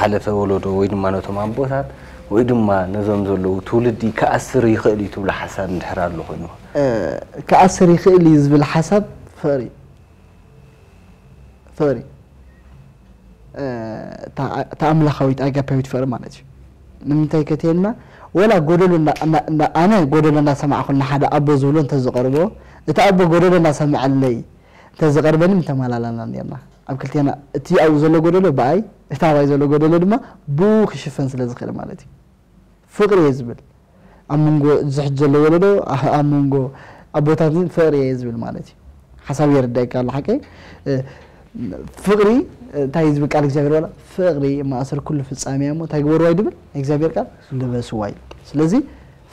ዝሓለፈ ወለዶ ወይ ድማ ነቶም ኣቦታት ወይ ድማ ነዞም ዘለዉ ትውልዲ ክኣስር ይኽእል እዩ ትብሎ ሓሳብ እንድሕር ኣሎ ኮይኑ? እ፣ ክኣስር ይኽእል እዩ ዝብል ሓሳብ ፍቕሪ ፍቕሪ እ፣ እታ እታ ኣምላኻዊት ኣጋፓዊት ፍቕሪ ማለት እዩ። ንምንታይ ከትየልና ወላ ጎደሎ እንዳ- እንዳ- እንዳ- ኣነ ጎደሎ እንዳሰማዕኩ ንሓደ ኣቦ ዝብሎ እንተዝቐርቦ እቲ ኣቦ ጎደሎ እንዳሰምዐለይ እንተዝቐርበኒ ምተመላላና ነርና። ኣብ ክልቴና እቲ ኣብኡ ዘሎ ጎደሎ ብኣይ እቲ ኣባይ ዘሎ ጎደሎ ድማ ብኡ ክሽፈን ስለ ዝኽእል ማለት እዩ። ፍቕሪ እየ ዝብል ኣብ መንጎ እዚ ሕጂ ዘሎ ወለዶ ኣብ መንጎ ኣቦታት ፍቕሪ እየ ዝብል ማለት እዩ። ሓሳብ የረዳእካ ኣሎ ሓቀይ ፍቕሪ እንታይ ዝብል ቃል እግዚኣብሔር ዋላ ፍቕሪ ማእሰር ኩሉ ፍጻሜ እሞ እንታይ ግበርዋ ይድብል እግዚኣብሔር ቃል ልበስዋ እዩ። ስለዚ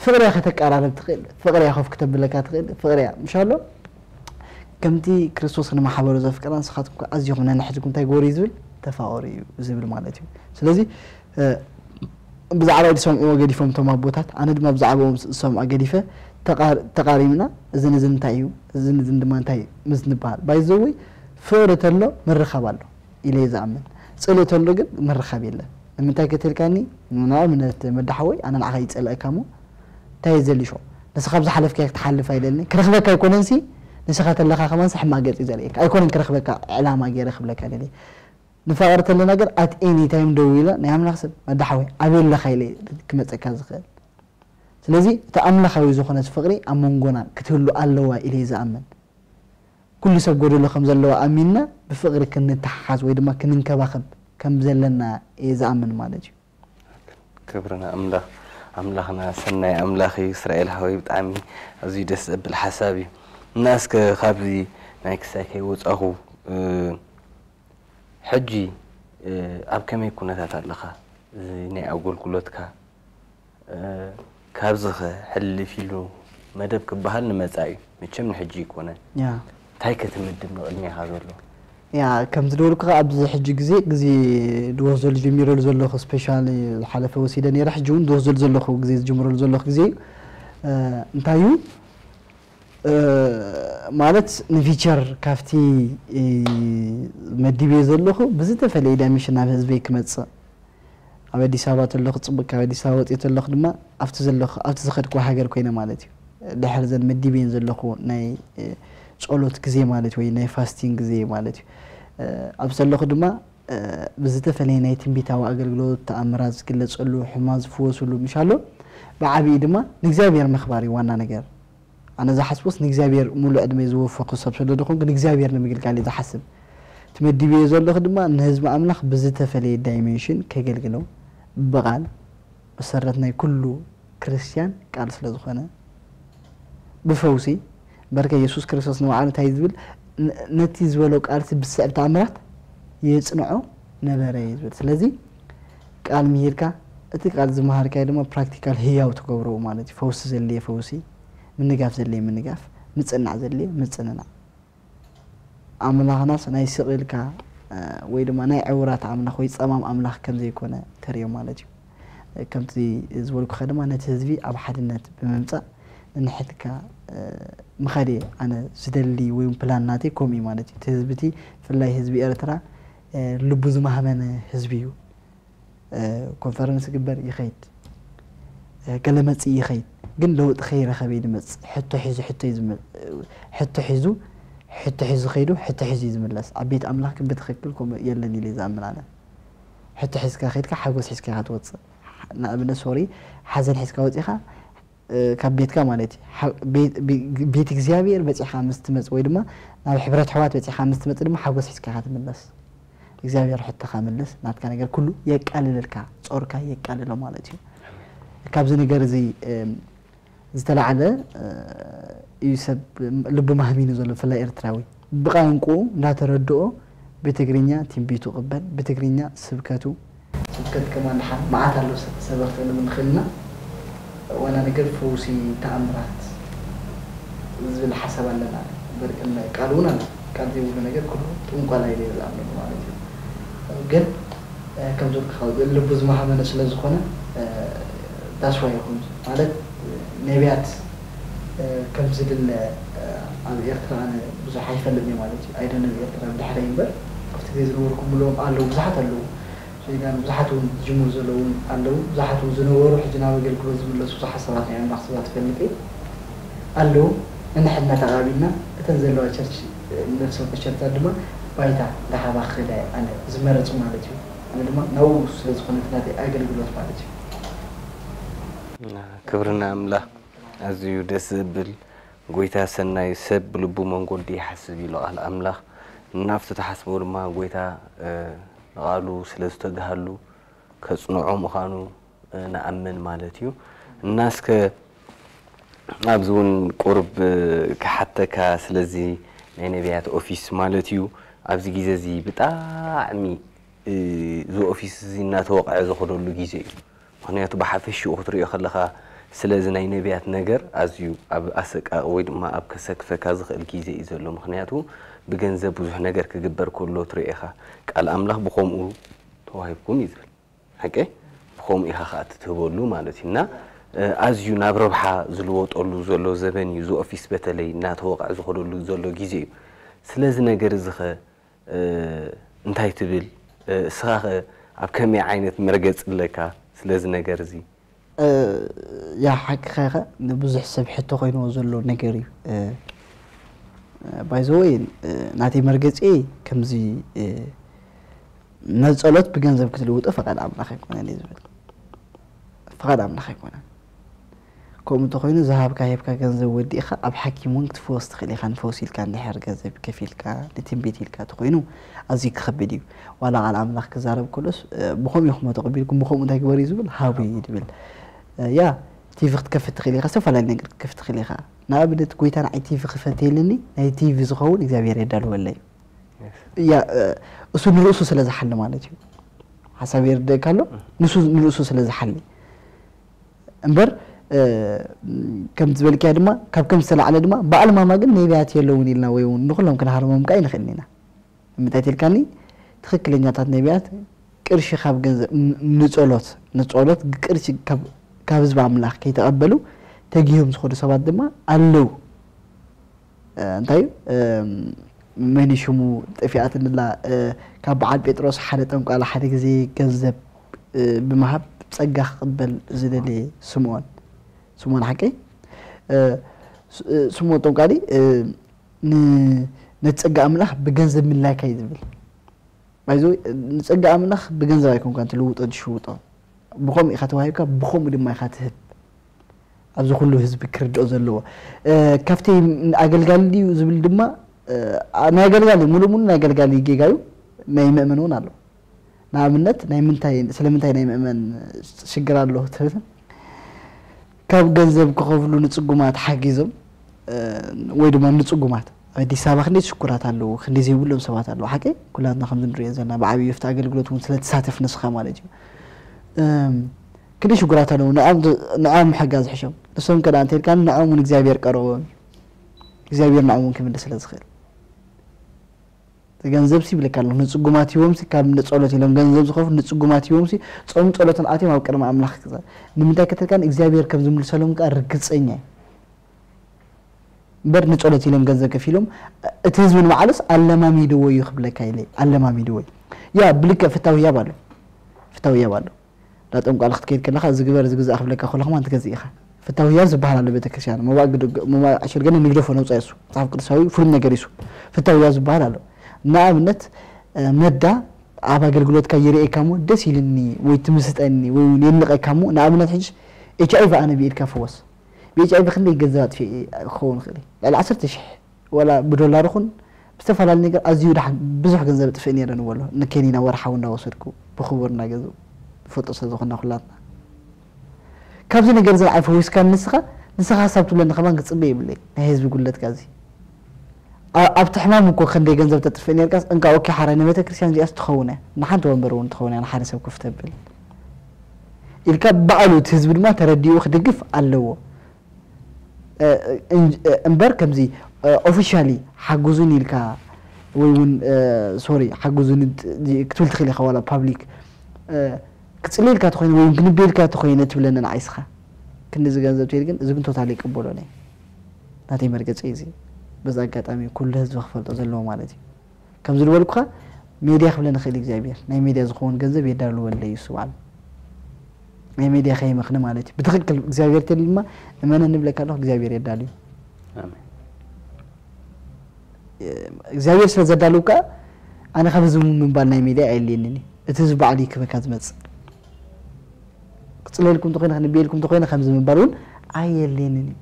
ፍቕርያ ከተቀራረብ ትኽእል፣ ፍቕርያ ኮፍ ክተብለካ ትኽእል፣ ፍቕርያ ምሻሎ ከምቲ ክርስቶስ ንማሕበሩ ዘፍቀራ ንስኻትኩም ከ ኣዝኹም ነንሕድኩም እንታይ ግበሩ እዩ ዝብል ተፋቐሩ እዩ ዝብል ማለት እዩ። ስለዚ ብዛዕባ ዝሰምዕዎ ገዲፎም እቶም ኣቦታት ኣነ ድማ ብዛዕባኦም ዝሰምዖ ገዲፈ ተቓሪምና እዝን እዝን እንታይ እዩ እዝን እዝን ድማ እንታይ ምስ ንበሃል ባይዘወይ ፍቕሪ ተሎ ምርኻብ ኣሎ ኢለ እየ ዝኣምን። ጽልኢ ተሎ ግን ምርኻብ የለን። ንምንታይ ከተልካኒ ንኣብነት መዳሓወይ ኣነ ንዓኻ ይጸልአካ እሞ እንታይ እየ ዘልሾ ንስኻ ብዝሓለፍካዮ ክትሓልፍ ኣይደልን ክረኽበካ ኣይኮነንሲ ንስኻ ተለኻ ከማንሲ ሕማቅ ገጽ እዩ ዘርእየካ ኣይኮነን ክረኽበካ ዕላማ ገይረ ክብለካ ደልየ ንፋቐር ተለና ግን ኣት ኤኒ ታይም ደዊለ ናይ ኣምላኽ ሰብ መዳሓወይ ኣበይ ኣለኻ ኢለ ክመጸካ ዝኽእል ስለዚ እቲ ኣምላኻዊ ዝኾነት ፍቕሪ ኣብ መንጎና ክትህሉ ኣለዋ ኢለ እየ ዝኣምን ኩሉ ሰብ ጎደሎ ከም ዘለዎ ኣሚንና ብፍቕሪ ክንተሓሓዝ ወይ ድማ ክንንከባኸብ ከም ዘለና እየ ዝኣምን ማለት እዩ። ክብሪ ንኣምላኽ። ኣምላኽና ሰናይ ኣምላኽ እዩ እስራኤል ሓወይ ብጣዕሚ ኣዝዩ ደስ ዘብል ሓሳብ እዩ። እና እስከ ካብዚ ናይ ክሳይ ከይወጻኹ ሕጂ ኣብ ከመይ ኩነታት ኣለኻ? እዚ ናይ ኣገልግሎትካ ካብዚ ከ ሕልፍ ኢሉ መደብ ክበሃል ንመጻኢ እዩ። መቸም ንሕጂ ኣይኮነን። ያ። እንታይ ክትምድብ ንቕድሜኻ ዘሎ? ያ ከምቲ ዝበልኩ ከ ኣብዚ ሕጂ ግዜ ግዜ ድወስደሉ ጀሚረሉ ዘለኹ ስፔሻሊ ዝሓለፈ ወሲደ ነይረ ሕጂ እውን ድወስደሉ ዘለኹ ግዜ ዝጅምረሉ ዘለኹ ግዜ እዩ እንታይ እዩ ማለት ንፊቸር ካብቲ መዲብዮ ዘለኹ ብዝተፈለየ ዳይሜንሽን ናብ ህዝበይ ክመፅእ ኣብ ኣዲስ ኣበባ ተለኹ ፅቡቅ ካብ ኣዲስ ኣበባ ወፅየ ተለኹ ድማ ኣብቲ ዘለኹ ኣብቲ ዝኸድኩ ሃገር ኮይነ ማለት እዩ ድሕር ዘን መዲብየን ዘለኹ ናይ ጸሎት ግዜ ማለት ወይ ናይ ፋስቲንግ ግዜ ማለት እዩ ኣብ ዘለኹ ድማ ብዝተፈለየ ናይ ትንቢታዊ ኣገልግሎት ተኣምራት ዝግለፀሉ ሕማ ዝፍወስሉ ምሻሎ ብዓብዪ ድማ ንእግዚኣብሔር ምኽባር እዩ ዋና ነገር ኣነ ዝሓስቦስ ንእግዚኣብሔር ሙሉ ዕድመ ዝወፈኩ ሰብ ስለ ዝኾንኩ ንእግዚኣብሔር ንምግልጋል እዩ ዝሓስብ ትመዲብዮ ዘለኹ ድማ ንህዝቢ ኣምላኽ ብዝተፈለየ ዳይሜንሽን ከገልግሎ ብቓል መሰረት ናይ ኩሉ ክርስትያን ቃል ስለ ዝኾነ ብፈውሲ በርከ የሱስ ክርስቶስ ንባዕሉ እንታይ ዝብል ነቲ ዝበሎ ቃልሲ ብስዕብ ተኣምራት የፅንዖ ነበረ እዩ ዝብል ስለዚ ቃል ምሂርካ እቲ ቃል ዝመሃርካዮ ድማ ፕራክቲካል ህያው ትገብሮ ማለት እዩ ፈውሲ ዘድልየ ፈውሲ ምንጋፍ ዘድልየ ምንጋፍ ምፅናዕ ዘድልየ ምፅንናዕ ኣምላኽናስ ናይ ስቕ ኢልካ ወይ ድማ ናይ ዕውራት ኣምላኽ ወይ ጸማም ኣምላኽ ከም ዘይኮነ ተርእዮ ማለት እዩ። ከምቲ ዝበልኩኻ ድማ ነቲ ህዝቢ ኣብ ሓድነት ብምምጻእ ንንሕድካ ምኻድ እየ ኣነ ዝደሊ ወይ ፕላን ናተይ ከምኡ እዩ ማለት እዩ። እቲ ህዝቢ እቲ ብፍላይ ህዝቢ ኤርትራ ልቡ ዝማህመነ ህዝቢ እዩ። ኮንፈረንስ ይግበር ይኸይድ፣ ገለ መፅእ ይኸይድ፣ ግን ለውጢ ከይረኸበ እዩ ዝመፅእ። ሕቶ ሒዙ ሕቶ እዩ ዝመ- ሕቶ ሒዙ ሕቶ ሒዙ ከይዱ ሕቶ ሒዙ እዩ ዝምለስ። ኣብ ቤት ኣምላኽ ግን ብትኽክል ከምኡ የለን ኢለ እየ ዝኣምን ኣነ። ሕቶ ሒዝካ ከይድካ ሓጎስ ሒዝካ ኢኻ ትወፅእ። ንኣብነት ሶሪ ሓዘን ሒዝካ ወፂኻ ካብ ቤትካ ማለት እዩ ቤት እግዚኣብሔር በፂኻ ምስ ትመፅ ወይ ድማ ናብ ሕብረት ኣሕዋት በፂኻ ምስ ትመፅ ድማ ሓጎስ ሒዝካ ኢኻ ትምለስ እግዚኣብሔር ሕቶኻ ምልስ ናትካ ነገር ኩሉ የቃልለልካ ፆርካ የቃልሎ ማለት እዩ ካብዚ ነገር እዚ ዝተላዓለ እዩ ሰብ ልቡ ማህሚኑ ዘሎ ብፍላይ ኤርትራዊ ብቋንቁኡ እንዳተረድኦ ብትግርኛ ትንቢቱ ቅበል ብትግርኛ ስብከቱ ስብከት ከማን ደሓን መዓት ኣሎ ሰበኽቲ ክንብል ንኽእል ኢና ዋና ነገር ፈውሲ ተኣምራት ዝብል ሓሳብ ኣለና እምበር ቃል እውን ኣሎ ቃል ዘይብሉ ነገር ኩሉ ጥንቆላ ኢለ ዝኣምነሉ ማለት እዩ ግን ከም ዘልክኻ ልቡ ዝመሃመነ ስለ ዝኾነ ዳስዋ ይኹን ማለት ነቢያት ከም ዝድለ ኣብ ኤርትራ ኣነ ብዙሕ ኣይፈልጥን እየ ማለት እዩ ኣይደነብ ኤርትራ ብድሕረይ እምበር ኣብቲ ግዜ ዝነበርኩ ምልኦም ኣለዉ ብዙሓት ኣለዉ ዜጋን ብዙሓት እውን ዝጅምሩ ዘለዉ እውን ኣለዉ። ብዙሓት እውን ዝነበሩ ሕጂ ናብ ኣገልግሎት ዝምለሱ ብዙሓት ሰባት ናይ ኣምላኽ ሰባት እፈልጥ እየ ኣለዉ። ንንሕድና ተቓቢልና እተን ዘለዋ ቸርች ነፍሲ ወከፍ ቸርቻት ድማ ባይታ እንዳሃባ ክኸዳ እየ ኣነ ዝመረጹ ማለት እዩ። ኣነ ድማ ናብኡ ስለ ዝኾነ እቲ ናተይ ኣገልግሎት ማለት እዩ። ክብሪ ንኣምላኽ። ኣዝዩ ደስ ዘብል ጎይታ ሰናይ ሰብ ብልቡ መንጎዲ ይሓስብ ኢሉ ቃል ኣምላኽ። ናብቲ ተሓስቦ ድማ ጎይታ ንቓሉ ስለ ዝተግሃሉ ከጽንዖ ምዃኑ ንኣምን ማለት እዩ። እና እስከ ኣብዚ እውን ቁርብ ክሓተካ ስለዚ ናይ ነቢያት ኦፊስ ማለት እዩ። ኣብዚ ግዜ እዚ ብጣዕሚ እዚ ኦፊስ እዚ እናተወቕዐ ዝኸደሉ ግዜ እዩ። ምክንያቱ ብሓፈሽኡ ክትሪኦ ከለኻ ስለዚ ናይ ነቢያት ነገር ኣዝዩ ኣብ ኣሰቃቂ ወይ ድማ ኣብ ከሰክፈካ ዝኽእል ግዜ እዩ ዘሎ። ምክንያቱ ብገንዘብ ብዙሕ ነገር ክግበር ከሎ ትሪኦ ኢኻ። ቃል ኣምላኽ ብኸምኡ ተዋሂብኩም እዩ ዝብል። ሓቂ ብኸምኡ ኢኻ ከዓ ትትህበሉ ማለት እዩ። እና ኣዝዩ ናብ ረብሓ ዝልወጠሉ ዘሎ ዘበን እዩ። እዚ ኦፊስ በተለይ እናተወቕዐ ዝኸደሉ ዘሎ ግዜ እዩ። ስለዚ ነገር እዚ ኸ እንታይ ትብል? እስኻ ኸ ኣብ ከመይ ዓይነት መርገፂ ኣለካ ስለዚ ነገር እዚ? ያ ሓቅኻ ኢኻ። ንብዙሕ ሰብ ሕቶ ኮይንዎ ዘሎ ነገር እዩ። ባይዘወይ ናተይ መርገፂ ከምዚ ነፀሎት ብገንዘብ ክትልውጦ ፈቃድ ኣምላኽ ኣይኮነን እዩ ዝብል። ፈቃድ ኣምላኽ ኣይኮነን። ከምኡ እንተኾይኑ ዝሃብካ ሂብካ ገንዘብ ወዲእኻ ኣብ ሓኪም እውን ክትፍወስ ትኽእል ኢኻ። ንፈውሲ ኢልካ እንድሕር ገንዘብ ከፊልካ ንትንቢት ኢልካ እንተኾይኑ ኣዝዩ ክኸብድ እዩ። ዋላ ቃል ኣምላኽ ክዛረብ ከሎስ ብኸምኡ ኢኹሞ ተቐቢልኩም ብኸምኡ እንታይ ግበሩ እዩ ዝብል? ሃቡ እዩ ዝብል። ያ ቲቪ ክትከፍት ትኽእል ኢኻ፣ ዝተፈላለዩ ነገር ክትከፍት ትኽእል ኢኻ። ንኣብነት ጎይታ ንዓይ ቲቪ ክፈተየልኒ ናይ ቲቪ ዝኸውን እግዚኣብሔር የዳልወለይ። ያ እሱ ንርእሱ ስለ ዝሓሊ ማለት እዩ። ሓሳብ የርደእካ ኣሎ ንሱ ንርእሱ ስለ ዝሓሊ እምበር ከም ዝበልክያ ድማ ካብ ከም ዝተላዕለ ድማ በዓል ማማ ግን ነቢያት የለውን ኢልና ወይ እውን ንኩሎም ክንሃርሞም ከዓ ይንኽእል ኢና። ንምንታይ ትልካኒ ትኽክለኛታት ነቢያት ቅርሺ ካብ ገንዘብ ንጸሎት ንጸሎት ቅርሺ ካብ ህዝቢ ኣምላኽ ከይተቐበሉ ተጊሆም ዝኾኑ ሰባት ድማ ኣለዉ። እንታይ መን ሽሙ ጠፊኣትንላ ካብ በዓል ጴጥሮስ ሓደ ጠንቋላ ሓደ ግዜ ገንዘብ ብምሃብ ጸጋ ክቕበል ዝደለየ ስምዖን ስምዖን ሓቀይ ስምዖን ጠንቋሊ ነቲ ጸጋ ኣምላኽ ብገንዘብ ምላይካ እዩ ዝብል ባይዘ ንጸጋ ኣምላኽ ብገንዘብ ኣይኮንካ ትልውጦ ትሽውጦ ብኸምኡ ኢኻ ተዋሂብካ ብኸምኡ ድማ ኢኻ ትህብ ኣብዚ ኩሉ ህዝቢ ክርድኦ ዘለዎ ካብቲ ኣገልጋሊ ድዩ ዝብል ድማ ናይ ኣገልጋሊ ሙሉ ሙሉ ናይ ኣገልጋሊ ጌጋ እዩ ናይ መእመን እውን ኣሎ ንኣብነት ናይ ምንታይ ስለምንታይ ናይ መእመን ሽግር ኣሎ ትብል ካብ ገንዘብ ክኸፍሉ ንፅጉማት ሓጊዞም ወይ ድማ ንፅጉማት ኣብ ኣዲስ ኣበባ ክንደይ ሽኩራት ኣለዉ ክንደይ ዘይብሎም ሰባት ኣለዉ ሓቂ ኩላትና ከምዚ ንሪኦ ዘለና ብዓብዩ ፍቲ ኣገልግሎት እውን ስለተሳተፍ ንስኻ ማለት እዩ ክንደይ ሽጉራት ኣለዉ ንዕኦም ምሕጋዝ ሕሾም ንሶም ከዳ እንተልካ ንዕኦም እውን እግዚኣብሔር ቀረቦም እግዚኣብሔር ንዕኦም እውን ክምልስ ስለ ዝኽእል ገንዘብ ሲ ይብለካ ኣለኹ ንፅጉማት ሂቦም ሲ ካብ ንፀሎት ኢሎም ገንዘብ ዝኸፍሉ ንፅጉማት ሂቦም ሲ ፆም ፀሎትን ኣትዮም ኣብ ቅድሚ ኣምላኽ ክዛ ንምንታይ ከተልካ እግዚኣብሔር ከም ዝምልሰሎም ከዓ ርግፀኛ እዩ እምበር ንፀሎት ኢሎም ገንዘብ ከፊሎም እቲ ህዝቢ ንባዕሉስ ኣለማሚድዎ እዩ ክብለካ ኢለ ኣለማሚድዎ እዩ ያ ብልክዕ ፍታው ህያብ ኣሎ ፍታው ህያብ ኣሎ ዳ ጠንቋል ክትከይድ ከለኻ እዚ ግበር እዚ ግዛእ ክብለካ ከሎ ከማን ትገዝእ ኢኻ ፍታው ህያብ ዝበሃል ኣሎ ቤተክርስትያን መባእ ግድግ- መባእ ዕሽር ገለ ንግደፎ ነውፃ እሱ መፅሓፍ ቅዱሳዊ ፍሉም ነገር እሱ ፍታው ህያብ ዝበሃል ኣሎ ንኣብነት መዳ ኣብ ኣገልግሎትካ ይርእየካ እሞ ደስ ኢልኒ ወይ ትምስጠኒ ወይ እውን የድንቐካ እሞ ንኣብነት ሕጂ ኤች ኣይቪ ኣነ ብኢድካ ፍወስ ብኤች ኣይቪ ክንደይ ገንዘብ ኣጥፊ ክኸውን ይኽእል እዩ ልዕሊ ዓሰርተ ሽሕ ወላ ብዶላር ይኹን ብዝተፈላለዩ ነገር ኣዝዩ ደሓን ብዙሕ ገንዘብ ጥፍእ ነይረ ንበሎ ንኬኒና ወርሓዊ እንዳወሰድኩ ብክቡር እናገዝኡ ንፈልጦ ስለ ዝኾንና ኩላትና ካብዚ ነገር እዚ ንዓይ ፈዊስካ ንስኻ ንስኻ ሓሳብ ትብለኒ ከማን ክፅበ ይብለይ ናይ ህዝቢ ጉለትካ እዚ ኣብቲ ሕማም እኮ ክንደይ ገንዘብ ተጥፍእ ነርካስ እንካ ኦኬ ሓራይ ንቤተ ክርስቲያን እዚኣስ ትኸውን እያ ንሓንቲ ወንበር እውን ትኸውን እያ ንሓደ ሰብ ኮፍ ተብል ኢልካ ባዕሉ እቲ ህዝቢ ድማ ተረዲኡ ክድግፍ ኣለዎ እምበር ከምዚ ኦፊሻሊ ሓግዙን ኢልካ ወይ እውን ሶሪ ሓግዙን ክትብል ትኽእል ኢኻ ዋላ ፓብሊክ ክፅልየልካ ተኮይነ ወይ ክንቤልካ ተኮይነ ትብለኒ ንዓይስኻ ክንዲ ዝገንዘብ ትብል ግን እዚ ግን ቶታሊ ይቅበሎ ናይ ናተይ መርገፂ እዚ በዚ ኣጋጣሚ ኩሉ ህዝቢ ክፈልጦ ዘለዎ ማለት እዩ ከም ዝልበልኩኻ ሜድያ ክብለ ንኽእል እግዚኣብሔር ናይ ሜድያ ዝኸውን ገንዘብ የዳልወለይ እሱ ባዕሉ ናይ ሜድያ ከይመኽኒ ማለት እዩ ብትኽክል እግዚኣብሔር ተል ድማ እመነ ንብለካ ኣለኹ እግዚኣብሔር የዳልዩ እግዚኣብሔር ስለ ዘዳልው ከዓ ኣነ ካብ ህዝቢ ምንባል ናይ ሜድያ ኣየልየንን እዩ እቲ ህዝቢ ባዕሉ ይክበካ ዝመፅእ ክፅለልኩም እንተኮይነ ክንብየልኩም እንተኮይነ ከምዚ ምባል እውን ኣየልየንን እዩ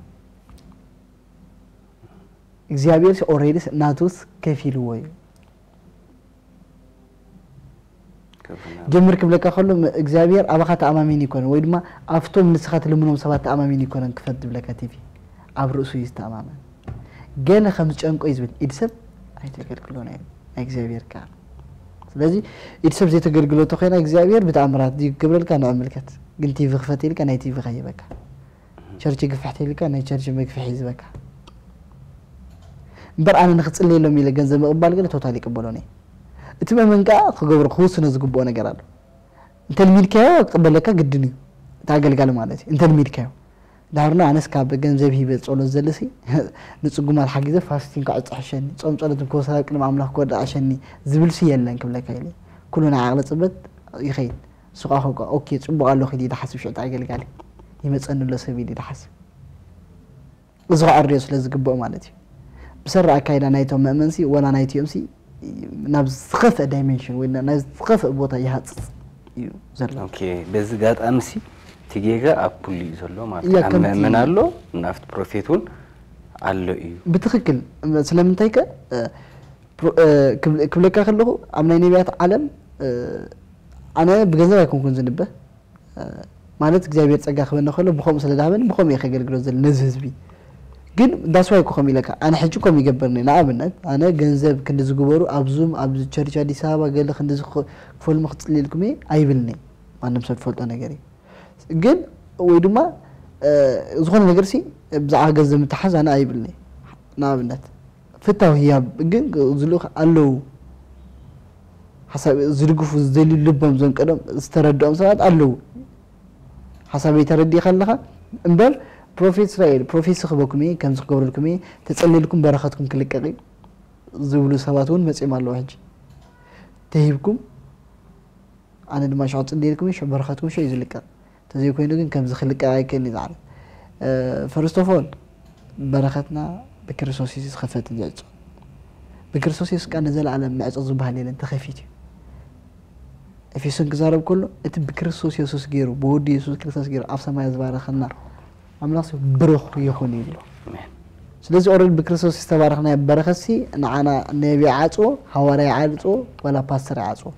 እግዚኣብሔር ኦሬዲ ናቱስ ከፊልዎ እዩ ጀምር ክብለካ ከሎ እግዚኣብሔር ኣባኻ ተኣማሚን ይኮነ ወይ ድማ ኣብቶም ንስኻ ትልምኖም ሰባት ተኣማሚን ይኮነን ክፈት ዝብለካ ቲቪ ኣብ ርእሱ እዩ ዝተኣማመን ገለ ከም ዝጨንቆ እዩ ዝብል ኢድ ሰብ ኣይተገልግሎን እዩ ናይ እግዚኣብሔር ከዓ ስለዚ ኢድ ሰብ ዘይተገልግሎ ተኮይና እግዚኣብሔር ብተኣምራት ዝገብረልካ ንዕምልከት ግን ቲቪ ክፈት ኢልካ ናይ ቲቪ ከይበካ ቸርች ግፍሕ ተይልካ ናይ ቸርች መግፍሕ ይዝበካ እምበር ኣነ ንክፅልየሎም ኢለ ገንዘብ ምቕባል ገለ ቶታል ይቅበሎን እየ እቲ መመን ከዓ ክገብሮ ክውስኖ ዝግብኦ ነገር ኣሎ እንተልሚድካዮ ክቅበለካ ግድን እዩ እቲ ኣገልጋሊ ማለት እዩ እንተልሚድካዮ ዳርና ኣነስ ካብ ገንዘብ ሂበ ጸሎት ዘለሲ ንጽጉማት ሓጊዘ ፋስቲን ክዕጽ ሕሸኒ ጾም ጸሎትን ክወስዳ ቅድሚ ኣምላኽ ክወድእ ኣሸኒ ዝብልሲ የለን ክብለካ ኢለ ኩሉ ናይ ዓቕሊ ጽበት ይኸይድ ንሱ ከዓ ከውቃ ኦኬ ፅቡቅ ኣሎ ክዲ ድሓስብ ሽዕቲ ኣገልጋሊ ይመፀኒ ኣሎ ሰብ ኢሉ ድሓስብ እዚ ከዓ ርዮ ስለ ዝግብኦ ማለት እዩ ብሰራ ኣካይዳ ናይቶም መእመንሲ ወላ ናይቲኦምሲ ናብ ዝኸፍአ ዳይሜንሽን ወይ ናብ ዝኸፍአ ቦታ ይሃፅፅ እዩ ዘሎ ኦኬ በዚ ጋጣሚ ሲ እቲ ጌጋ ኣብ ኩሉ እዩ ዘሎ ማለት እዩ ኣብ መእመን ኣሎ ናብቲ ፕሮፌት እውን ኣሎ እዩ ብትክክል ስለምንታይ ከ ክብለካ ከለኹ ኣብ ናይ ነቢያት ዓለም ኣነ ብገንዘብ ኣይኮንኩን ዝንበ ማለት እግዚኣብሔር ፀጋ ክበነ ከሎ ብከምኡ ስለ ዝሃበኒ ብከምኡ እየ ከገልግሎ ዘለ ነዚ ህዝቢ ግን that's why ኮም ኢለካ ኣነ ሕጂ ኮም ይገብርኒ ንኣብነት ኣነ ገንዘብ ክንዲ ዝግበሩ ኣብ ዙም ኣብ ቸርች ኣዲስ ኣበባ ገለ ክንዲ ክፈልሙ ክፅልልኩም እየ ኣይብልኒ ማንም ሰብ ዝፈልጦ ነገር እዩ ግን ወይ ድማ ዝኾነ ነገር ሲ ብዛዕባ ገንዘብ ምትሓዝ ኣነ ኣይብልኒ ንኣብነት ፍታው ህያብ ግን ዝልኡኽ ኣለዉ ሓሳብ ዝድግፉ ዝደልዩ ልቦም ዘንቀዶም ዝተረድኦም ሰባት ኣለዉ ሓሳበይ ተረዲእካ ኣለኻ እምበር ፕሮፌት እስራኤል ፕሮፌት ስኽበኩም እየ ከምዚ ክገብረልኩም እየ ተጸልልኩም በረኸትኩም ክልቀቕ እዩ ዝብሉ ሰባት እውን መጺኦም ኣለዉ ሕጂ ተሂብኩም ኣነ ድማ ሽዑ ጽልየልኩም እዩ በረኸትኩም ሽዑ እዩ ዝልቀቕ ተዘይኮይኑ ግን ከምዚ ክልቀቕ ኣይክእልን እዩ ዝዓለ first of all በረኸትና ብክርስቶስ የሱስ ዝኸፈት ዝዕጾ ብክርስቶስ የሱስ ቃል ንዘለኣለም ምዕጾ ዝበሃል የለን ተኸፊት እዩ ኤፌሶን ክዛረብ ከሎ እቲ ብክርስቶስ የሱስ ገይሩ ብወዱ የሱስ ክርስቶስ ገይሩ ኣብ ሰማይ ዝባረኸና ኣምላኽ ብሩኽ ይኹን ይብሎ ስለዚ ኦረድ ብክርስቶስ ዝተባረኽናዮ በረኸትሲ ንዓና ነቢ ይዓፅዎ ሃዋርያ ይዓፅዎ ዋላ ፓስተር ይዓፅዎ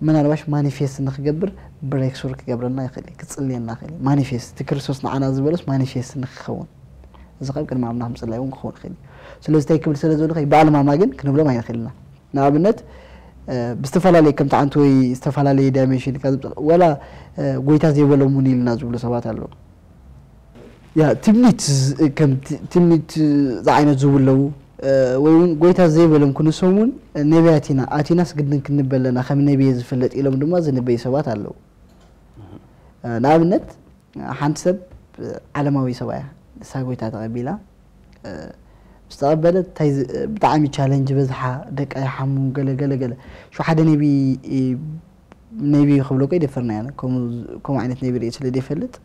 ምናልባሽ ማኒፌስት ንክገብር ብሬክሱር ክገብረልና ይኽእል እዩ ክፅልየና ይኽእል እዩ ማኒፌስት እቲ ክርስቶስ ንዓና ዝበለስ ማኒፌስት ንክኸውን እዚ ካብ ቅድሚ ኣምላኽ ምፅላይ እውን ክኸውን ይኽእል እዩ ስለዚ እንታይ ክብል ስለ ዘሎ በኣልማማ ግን ክንብሎም ኣይንኽእል ኢና ንኣብነት ብዝተፈላለየ ከምቲ ዓንቲ ወይ ዝተፈላለየ ዳይሜንሽን ኢልካ ዝምፅእ ወላ ጎይታ ዘይበሎም እውን ኢልና ዝብሉ ሰባት ኣለዉ ያ ትምኒት ከም ትምኒት ዝዓይነት ዝብለዉ ወይ እውን ጎይታ ዘይበሎም ክንሶም እውን ነቢያት ኢና ኣቲናስ ግድን ክንበለና ከም ነቢየ ዝፍለጥ ኢሎም ድማ ዝንበዩ ሰባት ኣለዉ ንኣብነት ሓንቲ ሰብ ዓለማዊ ሰብኣያ ንሳ ጎይታ ተቐቢላ ምስ ተቐበለት እንታይ ብጣዕሚ ቻለንጅ በዝሓ ደቃ ይሓሙ ገለ ገለ ገለ ሹ ሓደ ነቢ ነቢ ክብሎ ኮ ይደፈርና ያነ ከምኡ ዓይነት ነቢ ርኢ ስለ ዘይፈልጥ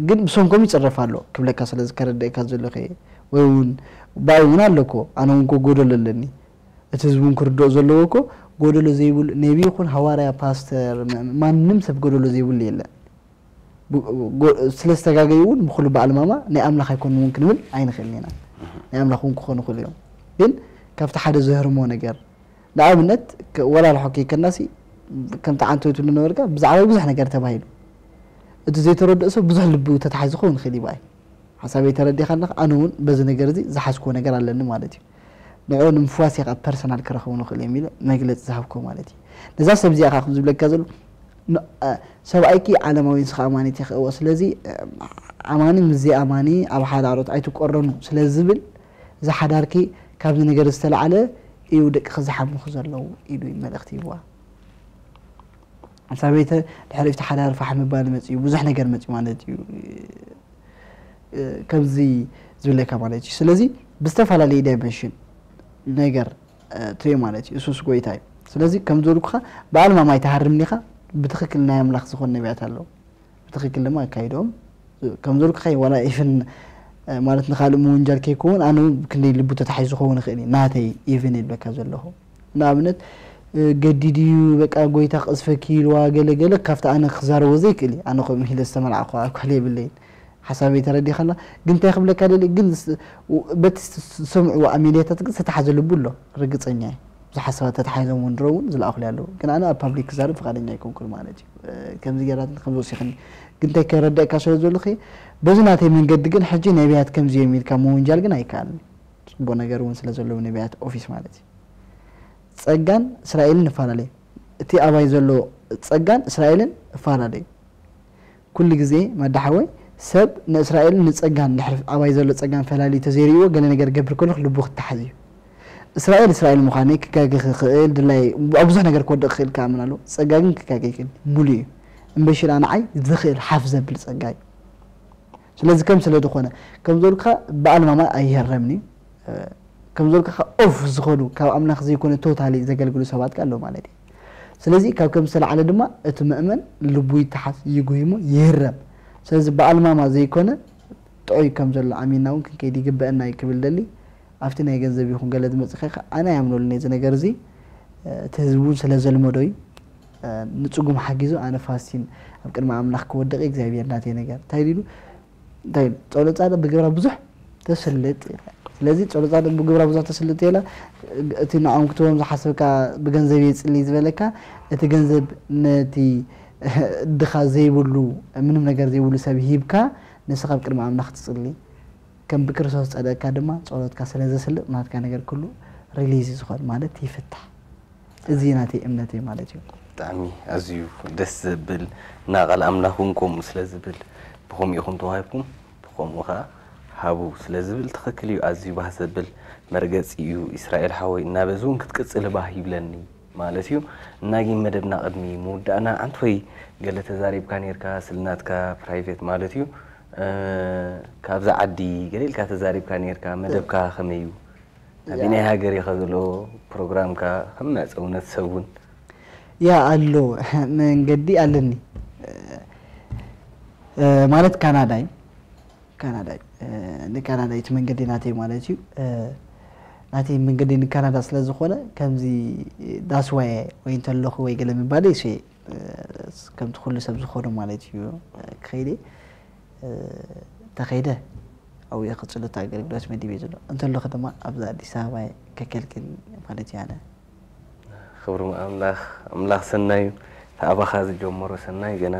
ግን ብሰንኮም ይፅረፍ ኣሎ ክብለካ ስለ ዝከረደእካ ዘሎ ከ ወይ እውን ባይ እውን ኣለኮ ኣነ እውን ጎደሎ ኣለኒ እቲ ህዝቢ እውን ክርድኦ ዘለዎ እኮ ጎደሎ ዘይብሉ ነቢ ይኹን ሃዋርያ ፓስተር ማንም ሰብ ጎደሎ ዘይብሉ የለን ስለ ዝተጋገዩ እውን ብኩሉ በዓል ማማ ናይ ኣምላኽ ኣይኮኑ እውን ክንብል ኣይንኽእልን ኢና ናይ ኣምላኽ እውን ክኾኑ ይኽእሉ እዮም ግን ካብቲ ሓደ ዘህርሞ ነገር ንኣብነት ወላ ልሖ ከይከናሲ ከምቲ ዓንተወይ ትብሉ ነበርካ ብዛዕባ ብዙሕ ነገር ተባሂሉ እቲ ዘይተረድኦ ሰብ ብዙሕ ልቢ ተታሒዙ ክኸውን ይኽእል ይበኣይ ሓሳበይ ተረዲኻ ኣለኻ ኣነ እውን በዚ ነገር እዚ ዝሓዝክዎ ነገር ኣለኒ ማለት እዩ ንዕኡ ንምፍዋስ እየ ካብ ፐርሰናል ክረኽቡ ንኽእል እዮም ኢለ መግለፂ ዝሃብክዎ ማለት እዩ ነዛ ሰብ እዚኣ ከዓ ዝብለካ ዘሎ ሰብኣይኪ ዓለማዊ ንስኻ ኣማኒት ይኽእዎ ስለዚ ኣማኒ ምስ ዘይኣማኒ ኣብ ሓደ ኣሮት ኣይትቆረኑ ስለ ዝብል ዝሓዳርኪ ካብዚ ነገር ዝተላዕለ እዩ ደቅኺ ዝሓምኹ ዘለዉ ኢሉ መልእኽቲ ይህብዋ ሰበይቲ ድሕሪ እቲ ሓዳር ፋሕ ምባል መፅኡ ብዙሕ ነገር መፅኡ ማለት እዩ ከምዚ ዝብለካ ማለት እዩ ስለዚ ብዝተፈላለየ ዳይመንሽን ነገር ትሪኦ ማለት እዩ እሱስ ጎይታ እዩ ስለዚ ከም ዝበልኩኻ ብኣልማማ ኣይትሃርም ዲኻ? ብትኽክል ናይ ኣምላኽ ዝኾኑ ነቢያት ኣለዉ። ብትኽክል ድማ ኣካይዶም ከም ዝበልኩኻ እዩ። ዋላ ኢፍን ማለት ንኻልእ ምውንጃል ከይከውን ኣነ እውን ክንደይ ልቡ ተታሒዙ ክኸውን ይኽእል እዩ። ናተይ ኢቭን ይብለካ ዘለኹ ንኣብነት ገዲድ እዩ በቃ ጎይታ ክቕዝፈኪ ኢልዋ ገለ ገለ ካብቲ ኣነ ክዛረቦ ዘይክእል እዩ። ኣነ ከምኡ ኢለ ዝተመላዕኹ ኣኳል የብለይን። ሓሳበይ ተረዲኻላ ግን እንታይ ክብለካ ደሊ ግን በቲ ዝሰምዕዎ ኣሜድያታት ግን ዝተሓዘ ልቡ ኣሎ ርግፀኛ እዩ። ብዙሓት ሰባት ተታሓይዞም እውን ድሮ እውን ዝለኣኹልይ ኣለዉ ግን ኣነ ኣብ ፓብሊክ ክዛረብ ፍቓደኛ ኣይኮንኩን ማለት እዩ። ከምዚ ገይራትኒ ከምዚ ወሲኽኒ ግን እንታይ ከረድእካ ስለ ዘለኹ በዚ ናተይ መንገዲ ግን ሕጂ ነቢያት ከምዚ እዮም ኢልካ ምውንጃል ግን ኣይከኣልን። ፅቡቕ ነገር እውን ስለ ዘለዉ ነቢያት ኦፊስ ማለት እዩ። ጸጋን እስራኤልን እፈላለዩ። እቲ ኣባይ ዘሎ ጸጋን እስራኤልን እፈላለዩ። ኩሉ ግዜ ማዳ ሓወይ ሰብ ንእስራኤልን ንጸጋን ድሕሪ ኣባይ ዘሎ ጸጋን ፈላልዩ ተዘይርእይዎ ገለ ነገር ክገብር ከሎ ልቡ ክተሓዝ እዩ። እስራኤል እስራኤል ምዃነይ ክጋገ ክኽእል ድላይ ኣብ ብዙሕ ነገር ክወድቕ ክኽእል ክኣምን ኣለዎ። ጸጋ ግን ክጋገ ይኽእል ሙሉ እዩ። እምበሺ ደኣ ንዓይ ዝኽእል ሓፍ ዘብል ጸጋ እዩ። ስለዚ ከም ስለ ዝኾነ ከም ዘልካ ብኣልማማ ኣይሄረምኒ ከም ዘልካ ኦፍ ዝኾኑ ካብ ኣምላኽ ዘይኮነ ቶታሊ ዘገልግሉ ሰባት ኣለዉ ማለት እዩ። ስለዚ ካብ ከም ዝተላዓለ ድማ እቲ ምእመን ልቡ ይተሓዝ ይጉሂሙ ይህረም። ስለዚ ብኣልማማ ዘይኮነ ጥዑይ ከም ዘሎ ኣሚንና እውን ክንከይድ ይግበአና እዩ ክብል ደሊ ኣብቲ ናይ ገንዘብ ይኹን ገለ ዝመፅእ ከ ኣነ ኣያምነሉን እዚ ነገር እዚ እቲ ህዝቢ እውን ስለ ዘልመዶ እዩ። ንጽጉም ሓጊዙ ኣነ ፋሲን ኣብ ቅድሚ ኣምላኽ ክወድቕ እግዚኣብሔር ናተይ ነገር እንታይ ኢሉ እንታይ ኢሉ ጸሎት ጻድቕ ብግብራ ብዙሕ ተስልጥ ይላል። ስለዚ ጸሎት ጻድቕ ብግብራ ብዙሕ ተስልጥ ይላ እቲ ንዖም ክትቦም ዝሓሰብካ ብገንዘብ የጽሊ ዝበለካ እቲ ገንዘብ ነቲ ድኻ ዘይብሉ ምንም ነገር ዘይብሉ ሰብ ሂብካ ንስኻ ኣብ ቅድሚ ኣምላኽ ትጽሊ ከም ብክርስቶስ ጸደቅካ ድማ ጸሎትካ ስለ ዘስልጥ ናትካ ነገር ኩሉ ሪሊዝ ዝኾን ማለት ይፍታሕ። እዚ ናተይ እምነተይ ማለት እዩ። ብጣዕሚ ኣዝዩ ደስ ዘብል እና ቃል ኣምላኽ እውን ከምኡ ስለ ዝብል ብኸምኡ ኢኹም ተዋሂብኩም ብኸምኡ ኸዓ ሃቡ ስለ ዝብል ትኽክል እዩ። ኣዝዩ ባህ ዘብል መርገፂ እዩ ኢስራኤል ሓወይ እና በዚ እውን ክትቅፅል ባህ ይብለኒ ማለት እዩ። እና ግን መደብና ቅድሚ ምውዳእና ኣንቶይ ገለ ተዛሪብካ ነርካ ስለ ናትካ ፕራይቬት ማለት እዩ ካብዛ ዓዲ ገለ ኢልካ ተዛሪብካ ነርካ መደብካ ከመይ እዩ? ኣበየናይ ሃገር ኢኻ ዘሎ ፕሮግራምካ ከም መዕጸውነት ሰብ እውን ያ ኣሎ መንገዲ ኣለኒ ማለት ካናዳ እዩ ካናዳ እዩ ንካናዳ እዩ እቲ መንገዲ ናተይ ማለት እዩ ናተይ መንገዲ ንካናዳ ስለ ዝኾነ ከምዚ ዳስዋየ ወይ እንተለኹ ወይ ገለ ምባል ይስ ከምቲ ኩሉ ሰብ ዝኾነ ማለት እዩ ክኸይደ ተኸይደ ኣብኡ እየ ክፅሉ እቲ ኣገልግሎት መዲበ ዘሎ እንተለኹ ድማ ኣብዚ ኣዲስ ኣበባ እየ ከገልግል ማለት እዩ ኣነ ክብሪ ኣምላኽ ኣምላኽ ሰናዩ ተኣባኻ ዝጀመሮ ሰናይ ገና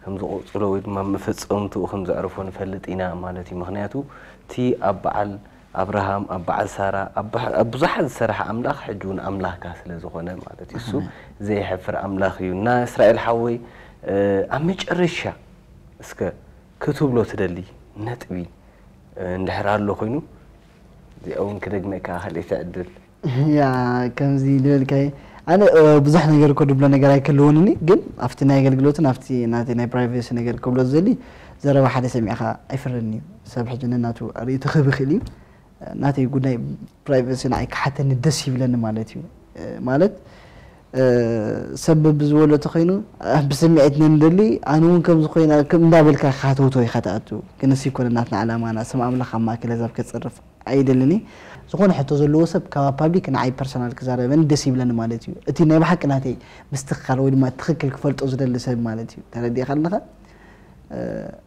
ከም ዝቆፅሎ ወይ ድማ መፈፀምትኡ ከም ዘዕርፎ ንፈልጥ ኢና ማለት እዩ ምክንያቱ እቲ ኣብ በዓል ኣብርሃም ኣብ በዓል ሳራ ኣብ ብዙሓት ዝሰረሐ ኣምላኽ ሕጂ እውን ኣምላኽካ ስለ ዝኾነ ማለት እዩ እሱ ዘይሕፍር ኣምላኽ እዩ እና እስራኤል ሓወይ ኣብ መጨረሻ እስከ ክትብሎ ትደሊ ነጥቢ እንድሕር ኣሎ ኮይኑ እዚኣ እውን ክደግመካ ካልእቲ ዕድል ያ ከምዚ ዝበልካዮ ኣነ ብዙሕ ነገር እኮ ድብሎ ነገር ኣይክህልወንኒ ግን ኣብቲ ናይ ኣገልግሎትን ኣብቲ ናተይ ናይ ፕራይቬሲ ነገር ክብሎ ዝደሊ ዘረባ ሓደ ሰሚዕካ ኣይፍርን እዩ ሰብ ሕጂ ነናቱ ርእይቶ ክህብ ይኽእል እዩ ናተይ ጉዳይ ፕራይቬሲ ንዓይ ክሓተኒ ደስ ይብለኒ ማለት እዩ ማለት ሰብ ብዝበሎ ተኮይኑ ብስምዒት ነንደሊ ኣነ እውን ከምዚ ኮይና እንዳበልካ ካተውቶ ኢካ ትኣቱ ግን እሱ ይኮነ ናትና ዕላማና ስም ኣምላኽ ኣብ ማእከል ኣዛብ ከፅርፍ ኣይደልን ዝኾነ ሕቶ ዘለዎ ሰብ ካብ ፓብሊክ ንዓይ ፐርሰናል ክዛረበኒ ደስ ይብለኒ ማለት እዩ እቲ ናይ ብሓቂ ናተይ ምስትክካል ወይ ድማ ትክክል ክፈልጦ ዝደሊ ሰብ ማለት እዩ ተረዲእካ ኣለካ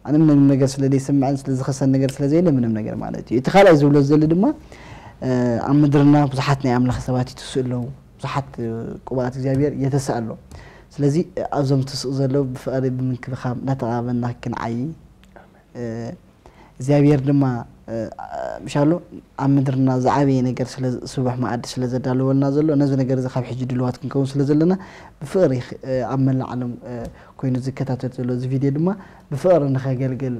ኣነ ምንም ነገር ስለ ዘይስምዐን ስለ ዝኸሰን ነገር ስለ ዘየለ ምንም ነገር ማለት እዩ እቲ ካልኣይ ዝብሎ ዝደሊ ድማ ኣብ ምድርና ብዙሓት ናይ ኣምላኽ ሰባት ይትስኡ ኣለዉ ብዙሓት ቅቡኣት እግዚኣብሔር የተስእ ኣሎ ስለዚ ኣብዞም ትስኡ ዘለዉ ብፍቕሪ ብምንክብኻብ እናተቓበልና ክንዓዪ እግዚኣብሔር ድማ ምሻሎ ኣብ ምድርና ዝዓበየ ነገር ስቡሕ መኣዲ ስለ ዘዳለወልና ዘሎ ነዚ ነገር እዚ ካብ ሕጂ ድልዋት ክንከውን ስለ ዘለና ብፍቕሪ ኣብ መላእ ዓለም ኮይኑ ዝከታተል ዘሎ እዚ ቪድዮ ድማ ብፍቕሪ ንኸገልግል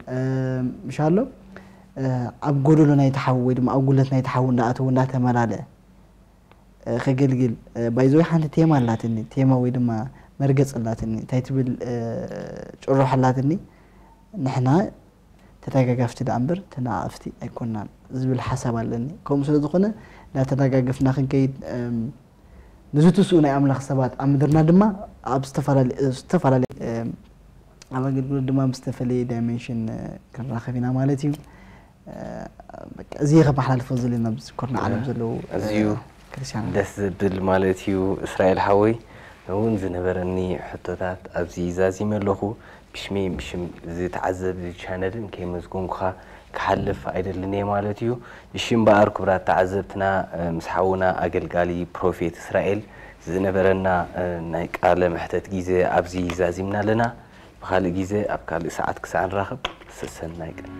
ምሻሎ ኣብ ጎደሎ ናይ ተሓው ወይ ድማ ኣብ ጉለት ናይ ተሓው እንዳኣተው እንዳተመላለአ ከገልግል ባይዘወይ ሓንቲ ቴማ ኣላትኒ ቴማ ወይ ድማ መርገፅ ኣላትኒ እንታይ ትብል ጭሮሕ ኣላትኒ ንሕና ተተጋጋፍቲ ደኣ እምበር ተነቓቐፍቲ ኣይኮንናን ዝብል ሓሳብ ኣለኒ። ከምኡ ስለ ዝኾነ እንዳተደጋገፍና ክንከይድ ንዝትስኡ ናይ ኣምላኽ ሰባት ኣብ ምድርና ድማ ኣብ ዝተፈላለየ ኣብ ኣገልግሎት ድማ ብዝተፈለየ ዳይሜንሽን ክንራኸብ ኢና ማለት እዩ። እዚ ከመሓላልፎ ዘለና ኣብዚ ኮርና ዓለም ዘለዉ ኣዝዩ ክርስቲያን ደስ ዝብል ማለት እዩ። እስራኤል ሓወይ እውን ዝነበረኒ ሕቶታት ኣብዚ ዛዚመ ኣለኹ። ብሽመይን ብሽም ዝተዓዘብ ቻነልን ከይመስገንኩኻ ክሓልፍ ኣይደልን እየ ማለት እዩ። እሺ እምበኣር ክቡራት ተዓዘብትና፣ ምስ ሓውና ኣገልጋሊ ፕሮፌት እስራኤል ዝነበረና ናይ ቃለ መሕተት ግዜ ኣብዚ ዛዚምና ኣለና። ብኻልእ ግዜ ኣብ ካልእ ሰዓት ክሳዕ ንራኸብ ሰሰናይ ቀን።